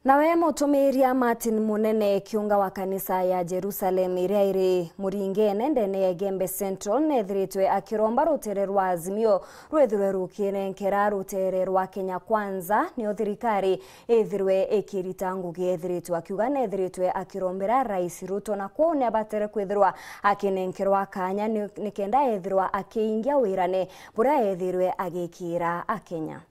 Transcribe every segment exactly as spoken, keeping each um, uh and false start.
Nawe mutumiria Martin Munene, kiunga wa kanisa ya Jerusalem iria iri Muringene ndene ya Igembe Central, neethiritwe akiromba rutere rwa Azimio rwithirwe rukinenkera rutere rwa Kenya Kwanza, nio thirikari ithirwe ikirita ngugi. Ethiritwe akiuga neethiritwe akirombera Rais Ruto, na kwou niabatere kwithirwa akinenkerwa kanya ni, nikenda ethirwa akiingia wirane buria ethirwe agikira Akenya.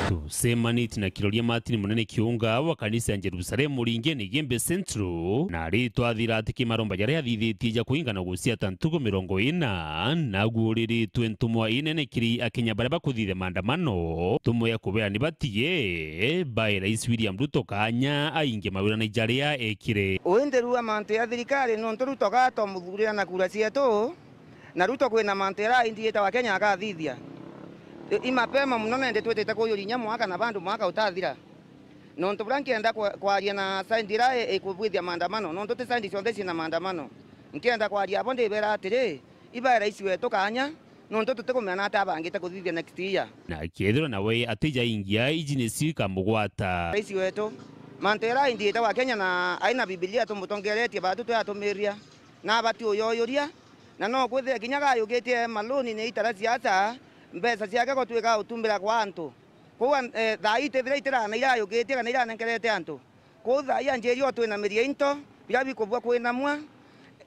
Tucemanitie na Kiroria Martin Munene, kiunga wa kanisa ya Jerusalem Muringene Igembe Central, na aritwathira ati kimaromba jaria athithitie ja kuingana guciata ntuku mirongo ina, naguuriritwe ntumwa inene kiri Akenya baria bakuthithia maandamano, ntumwa ya kubera ni batige bae Rais William Ruto kanya aingie mawirane jaria ekire. Uinthirua mantu ya thirikari, nontu Ruto gatomuthurira na kura cietu, na Ruto kwina mantu jaraindiite wa Kenya akathithia. I, i mapema muno, nende twitite kuyuria inya mwaka na bandu mwaka utathira. Nontu buria nkienda kwa-, kwaria na side iria i-, ikubwithia maandamano, nontu ti side cionthe ciina maandamano. Nkienda kwaria abo ndibera atiri, ibae rais wetu kanya, nontu tutikumenya nata abangite kuthithia next year. Na kethirwa nawe atijaingia, iji nicio ikamugwata. Rais wetu, mantu jaraindiite wa Kenya na aina Bibilia tumutongeretie batu tuyatumiria, na abati uyoyuria, na no kwithire kinya gayukitie maloni ni itara siasa, mbeca ciake gutwika utumbira kwa antu. Kwou an-, eh, thaa ii itithira itirana irayukitie kana iranenkerete antu. Kwou thaa ii anjiria utwinamirie into biria bikubua kwinamua,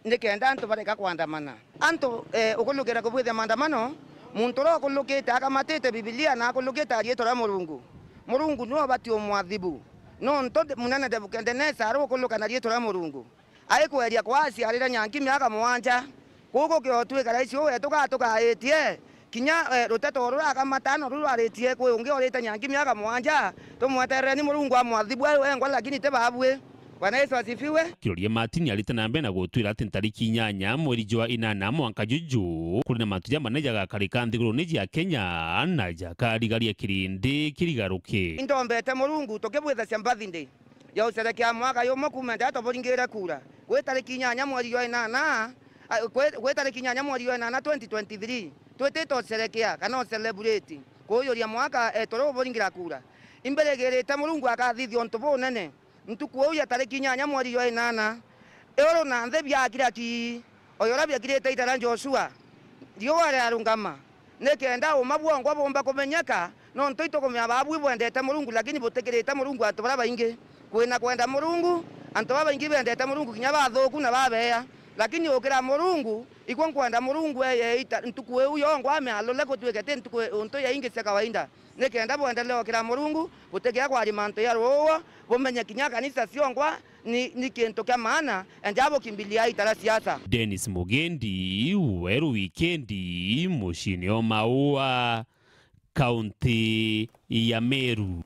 nikenda antu bareka kwandamana. Antu, eh, ukulukira kubwithia maandamano, muntu uria ukulukite akamatite Bibilia na akulukite na riitwa ria Murungu, Murungu niwe ubati umwathibu. Nontu munene Nebukadenesa ari ukuluka na riitwa ria Murungu. Aikweria kwa aciarire nyanki miaka mugwanja. Kuu gukiotwika rais uu wetu gatugaaitie, kinya, eh, ruteto ruria akamata no ruru aritie kwi ungi orite nyanki miaka mugwanja, tumweterereni Murungu amwathibu ari wengwa, lakini ti babui. Bwana Yesu asifiwe. Kiroria Martin arite na mbere na gutwira ati ntariki inyanya mweri jwa inana mwanka juju, kuri na mantu jamanene jagakarika nthiguruni jia Kenya na jakarigaria kirindi kirigaruke. Indombete Murungu tukibwithacia birthday ya ucerekea mwaka yumwe kuuma nja tuburingire kura. Gwi tariki inyanya mweri jwa inana, a, gwi, gwi tariki inyanya mweri jwa inana twenty twenty-three, twitite ucerekea kana ucelebrate kuujuria mwaka, eh, turia uburingira kura. Imbirigirite Murungu akathithia untu bunene. Ntuku iu ya tariki inyanya mweri jwa inana, iuru na nthi biakira ki, o uria biakirite ita ria Joshua, riua riarungama, nikenda uma bwongwa bumba kumenyeka, nontu itukumenya babu ibwendete Murungu, lakini butikirite Murungu antu baria baingi. Kwina kwenda Murungu, antu babaingi bendete Murungu kinya bathuku na babeea, lakini ukira Murungu, ikwo nkwenda Murungu eye ita ntuku iu yongwa amialule gutwike ti ntuku untu yaingi cia kawaida. Nikenda bwendelee ukira Murungu, butikia kwaria mantu ja ruuo, bumenye kinya kanisa ciongwa ni, ni kintu kia maana, enja bukimbilia itara siasa. Dennis Mugendi, Weru Wikendi, muciini o Maua, kaunti ya Meru.